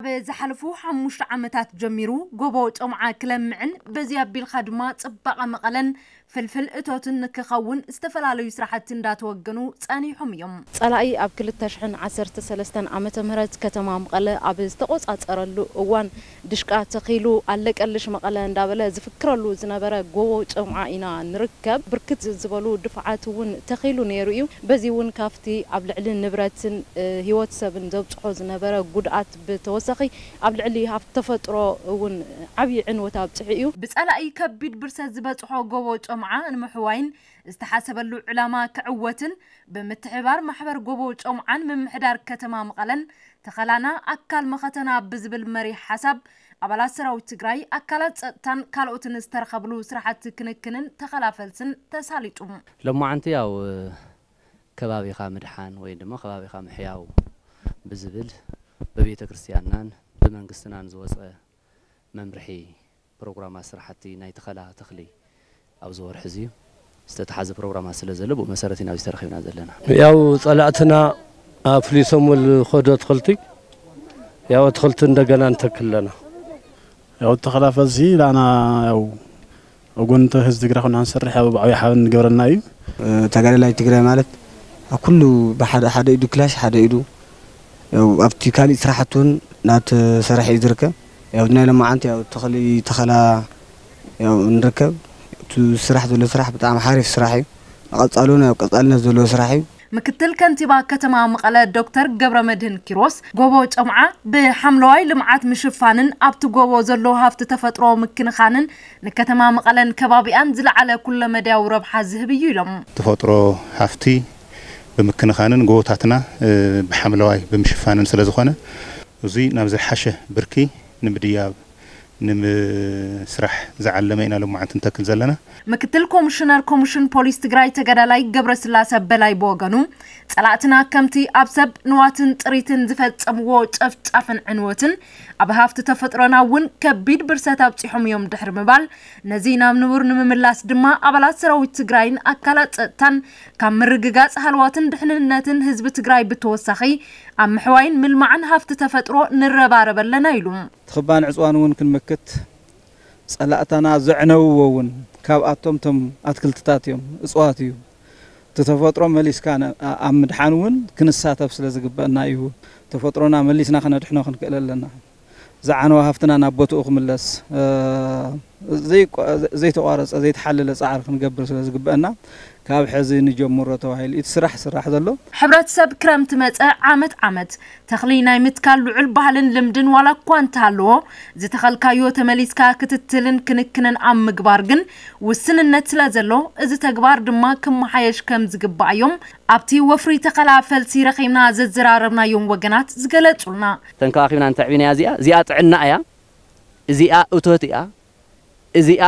ብዝሓለፉ ሓሙሽተ ዓመታት ጀሚሩ ጎቦ ጮምዓ ክለምዕን በዚ ኣቢልካ ድማ ጽባቐ መቐለን ፍልፍል እቶትን ንክኸውን ዝተፈላለዩ ስራሕቲ እንዳተወገኑ ጸኒሖም እዮም። ጸላኢ ኣብ ክልተ ሽሕን ዓሰርተ ሰለስተን ዓመተ ምህረት ከተማ መቐለ ኣብ ዝተቆጻጸረሉ እዋን ድሽቃ ተኺሉ ኣለቀልሽ መቐለ እንዳበለ ዝፍክረሉ ዝነበረ ጎቦ ጨምዓ ኢና ንርከብ። ብርክት ዝበሉ ድፋዓት እውን ተኺሉ ነይሩ እዩ። በዚ እውን ካብቲ ኣብ ልዕሊ ንብረትን፣ እ፣ ህይወት ሰብን ዘብጽሖ ዝነበረ ጉድኣት ብተወሳኺ ኣብ ልዕሊ ሃፍቲ ተፈጥሮ እውን ዓብዪ ዕንወት ኣብጽሑ እዩ። ብጸላኢ ከቢድ ብርሰት ዝበጽሖ ጎቦ ጨምዓ ንምሕዋይን ዝተሓሰበሉ ዕላማ ክዕወትን ብምትሕብባር ማሕበር ጎቦ ጨምዓን ምምሕዳር ከተማ መቐለን ተኸላና ኣካል መኸተና ብዝብል መሪሕ ሓሳብ ኣባላት ሰራዊት ትግራይ፣ ኣካላት ጸጥታን ካልኦትን ዝተረኸብሉ ስራሕቲ ክንክንን ተኸላ ፈልስን ተሳሊጡ። ሎማዓንቲ ያው ከባቢኻ ምድሓን ወይ ድማ ከባቢኻ ምሕያው ብዝብል በቤተ ክርስቲያንናን ብመንግስትናን ዝወፀ መምርሒ ፕሮግራማት ስራሕቲ ናይ ተኸላ ተኽሊ ኣብዚ ወርሒ እዚ ዝተተሓዘ ፕሮግራማት ስለ ዘሎ ብኡ መሰረት ኢና ኣብዚ ተረኺብና ዘለና። ያው ጸላእትና ኣፍሊሶም ዝኸዱ ኣትክልቲ ያው ኣትክልቲ እንደገና ንተክል ኣለና። ያው ተኸላ ፈልሲ ላና ያው ኣብ ጎኒ ህዝቢ ትግራይ ኮይና ክንሰርሕ ያው ብዓብዪ ሓበን ንገብረልና እዩ። ተጋዳላይ ትግራይ ማለት ኣብ ኩሉ ብሓደ ሓደ ኢዱ ክላሽ ሓደ ኢዱ ያው ኣብቲ ካሊእ ስራሕቲ እውን እናተሰርሐ እዩ ዝርከብ። ያው ናይ ሎማዓንቲ ያው ተኽሊ ተኸላ ያው ንርከብ። እቲ ስራሕ ዘሎ ስራሕ ብጣዕሚ ሓሪፍ ስራሕ እዩ። ንቐጻሉ እውን ያው ቀጻልነት ዘለዎ ስራሕ እዩ። ምክትል ከንቲባ ከተማ መቐለ ዶክተር ገብረመድህን ኪሮስ፣ ጎቦ ጨምዓ ብሓምለዋይ ልምዓት ምሽፋንን ኣብቲ ጎቦ ዘሎ ሃፍቲ ተፈጥሮ ምክንኻንን ንከተማ መቐለን ከባቢኣን ዝለዓለ ኩለመዳያዊ ረብሓ ዝህብ እዩ ኢሎም። ተፈጥሮ ሃፍቲ ብምክንኻንን ጎቦታትና፣ እ፣ ብሓምለዋይ ብምሽፋንን ስለ ዝኾነ፣ እዚ ናብ ዝሓሸ ብርኪ ንምድያብ ንምስራሕ ዝዓለመ ኢና ሎማዓንቲ ንተክል ዘለና። ምክትል ኮሚሽነር ኮሚሽን ፖሊስ ትግራይ ተጋዳላይ ገብረስላሰ በላይ ብወገኑ፣ ጸላእትና ከምቲ ኣብ ሰብ ንዋትን ጥሪትን ዝፈጸምዎ ጨፍጫፍን ዕንወትን ኣብ ሃፍቲ ተፈጥሮና እውን ከቢድ ብርሰት ኣብጺሖም እዮም ድሕሪ ምባል፣ ነዚ ናብ ንቡር ንምምላስ ድማ ኣባላት ሰራዊት ትግራይን ኣካላት ጸጥታን ካብ ምርግጋጽ ሃለዋትን ድሕንነትን ህዝቢ ትግራይ ብተወሳኺ ኣብ ምሕዋይን ምልማዕን ሃፍቲ ተፈጥሮ ንረባረብ ኣለና ኢሉ። እቲ ክባን ዕፅዋን እውን ክንምክት ጸላእታና ዘዕነውዎ እውን ካብኣቶም እቶም ኣትክልትታት እዮም፣ እፅዋት እዩ። እቲ ተፈጥሮ መሊስካ ነ-፣ ኣ-፣ ኣብ ምድሓን እውን ክንሳተፍ ስለ ዝግበአና እዩ። ተፈጥሮና መሊስና ከነድሕኖ ክንክእል ኣለና። ዝዓነወ ሃፍትና ናብ ቦትኡ ክምለስ፣ እ፣ ዘይቋ-፣ ዘይተቋረጸ፣ ዘይተሓለለ ጻዕሪ ክንገብር ስለ ዝግበአና ካብ ሕዚ ንጀምሮ ተባሂሉ እቲ ስራሕ ስራሕ ዘሎ። ሕብረተሰብ ክረምቲ መጸ ዓመት ዓመት ተኽሊ ናይ ምትካል ልዑል ባህልን ልምድን ዋላ እኳ እንተሃለዎ፣ ዝተኸልካዮ ተመሊስካ ክትትልን ክንክንን ኣብ ምግባር ግን ውስንነት ስለ ዘሎ፣ እዚ ተግባር ድማ ክመሓየሽ ከም ዝግባእ እዮም ኣብቲ ወፍሪ ተኸላ ፈልሲ ረኺብና ዘዘራረብናዮም ወገናት ዝገለጹልና። ተንከባኺብና እንተዕቢናያ እዚኣ፣ እዚኣ ጥዕና እያ፣ እዚኣ እቶት እያ፣ እዚኣ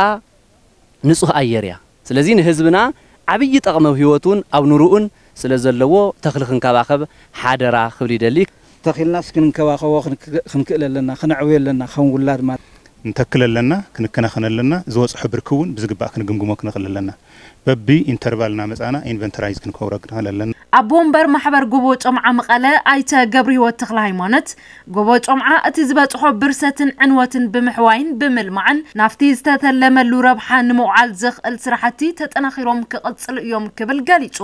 ንጹህ ኣየር እያ። ስለዚ ንህዝብና ዓብዪ ጠቕሚ ኣብ ህይወቱን ኣብ ኑርኡን ስለ ዘለዎ ተኽሊ ክንከባኸብ ሓደራ ክብል ይደሊ። ተኺልናስ ክንንከባኸቦ ክንክ-፣ ክንክእል ኣለና፣ ክነዕብዮ ኣለና፣ ከም ውላድ ማለት። ንተክል ኣለና፣ ክንከናኸን ኣለና፣ ዝበጽሖ ብርኪ እውን ብዝግባእ ክንግምግሞ ክንኽእል ኣለና። በቢ ኢንተርቫል እናመጻና ኢንቨንተራይዝ ክንከውሮ ክንኽእል ኣለና። ኣቦ ወንበር ማሕበር ጎቦ ጨምዓ መቐለ ኣይተ ገብረህይወት ተኽለ ሃይማኖት፣ ጎቦ ጨምዓ እቲ ዝበጽሖ ብርሰትን ዕንወትን ብምሕዋይን ብምልማዕን ናብቲ ዝተተለመሉ ረብሓ ንምውዓል ዘኽእል ስራሕቲ ተጠናኺሮም ክቕጽሉ እዮም ክብል ገሊጹ።